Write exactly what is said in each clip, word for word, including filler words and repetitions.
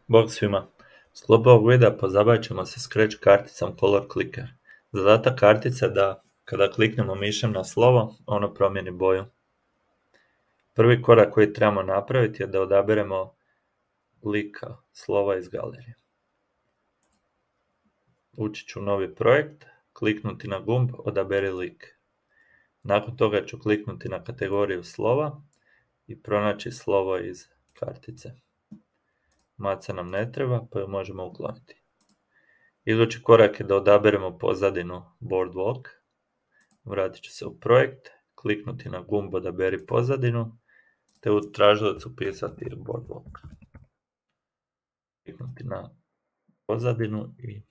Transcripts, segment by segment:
Bog svima! U sklopu ovog videa pozabavit ćemo se Scratch karticom Color Clicker. Zadatak kartice je da kada kliknemo mišem na slovo, ono promijeni boju. Prvi korak koji trebamo napraviti je da odaberemo lika slova iz galerije. Ući ću u novi projekt, kliknuti na gumb Odaberi lik. Nakon toga ću kliknuti na kategoriju slova i pronaći slovo iz kartice. Maca nam ne treba, pa ju možemo ukloniti. Idući korak je da odaberemo pozadinu Boardwalk. Vratit ću se u projekt, kliknuti na gumb Odaberi pozadinu, te u tražilac upisati Boardwalk. Kliknuti na pozadinu i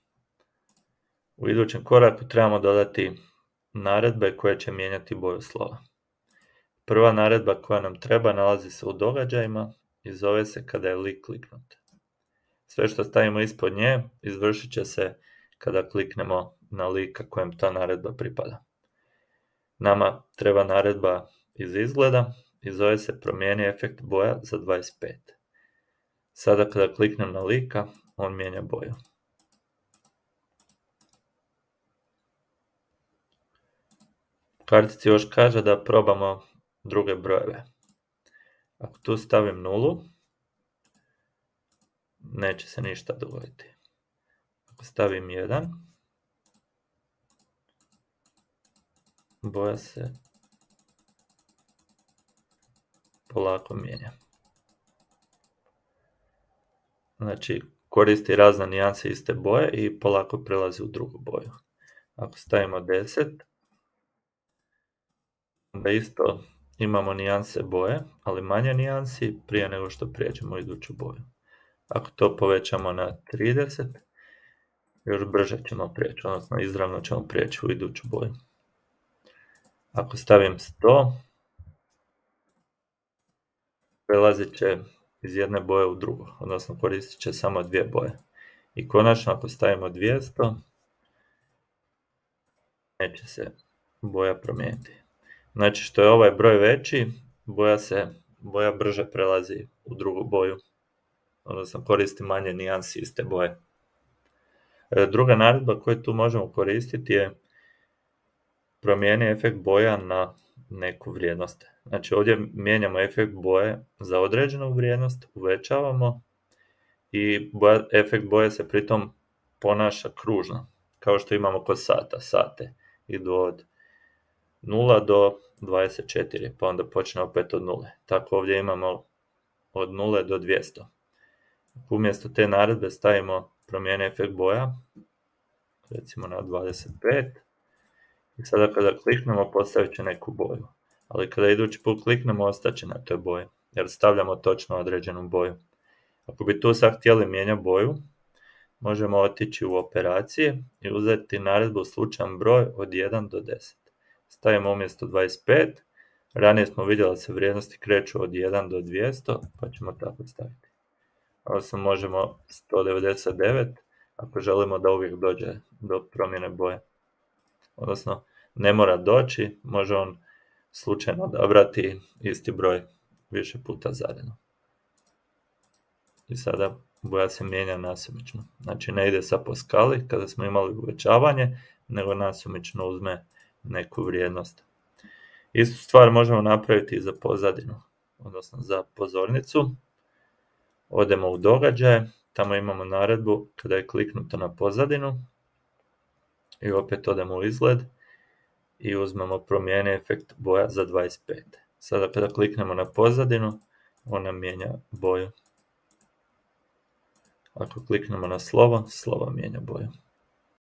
u idućem koraku trebamo dodati naredbe koje će mijenjati boju slova. Prva naredba koja nam treba nalazi se u događajima i zove se kada je lik kliknut. Sve što stavimo ispod nje izvršit će se kada kliknemo na lika kojem ta naredba pripada. Nama treba naredba iz izgleda i zove se promijeni efekt boja za dvadeset pet. Sada kada kliknem na lika, on mijenja boju. Kartici još kaže da probamo druge brojeve. Ako tu stavim nulu, neće se ništa dogoditi. Ako stavim jedan, boja se polako mijenja. Znači, koristi razne nijanse iste boje i polako prelazi u drugu boju. Ako stavimo deset, onda isto imamo nijanse boje, ali manje nijansi prije nego što prijeđemo u iduću boju. Ako to povećamo na trideset, još brže ćemo prijeći, odnosno izravno ćemo prijeći u iduću boju. Ako stavim sto, prelazit će iz jedne boje u drugu, odnosno koristit će samo dvije boje. I konačno ako stavimo dvjesto, neće se boja promijeniti. Znači što je ovaj broj veći, boja se, boja brže prelazi u drugu boju, odnosno koristi manje nijansi iste boje. Druga naredba koju tu možemo koristiti je promijeni efekt boja na neku vrijednost. Znači ovdje mijenjamo efekt boje za određenu vrijednost, uvećavamo i boja, efekt boje se pritom ponaša kružno, kao što imamo kod sata. Sate idu od nula do dvadeset četiri, pa onda počne opet od nule. Tako ovdje imamo od nule do dvjesto. Umjesto te naredbe stavimo promijeni efekt boja, recimo na dvadeset pet, i sada kada kliknemo postavit će neku boju. Ali kada idući put kliknemo ostaće na toj boji, jer stavljamo točno određenu boju. Ako bi tu sad htjeli mijenjati boju, možemo otići u operacije i uzeti naredbu slučajan broj od jedan do deset. Stavimo umjesto dvadeset pet, ranije smo vidjeli da se vrijednosti kreću od jedan do dvjesto, pa ćemo tako staviti. Odnosno možemo sto devedeset devet, ako želimo da uvijek dođe do promjene boje. Odnosno, ne mora doći, može on slučajno odabrati isti broj više puta zaredno. I sada boja se mijenja nasumično. Znači ne ide sad po skali kada smo imali uvećavanje, nego nasumično uzme neku vrijednost. Istu stvar možemo napraviti i za pozadinu, odnosno za pozornicu. Odemo u događaje, tamo imamo naredbu kada je kliknuto na pozadinu i opet odemo u izgled i uzmemo promijeni efekt boja za dvadeset pet. Sada kada kliknemo na pozadinu, ona mijenja boju. Ako kliknemo na slovo, slovo mijenja boju.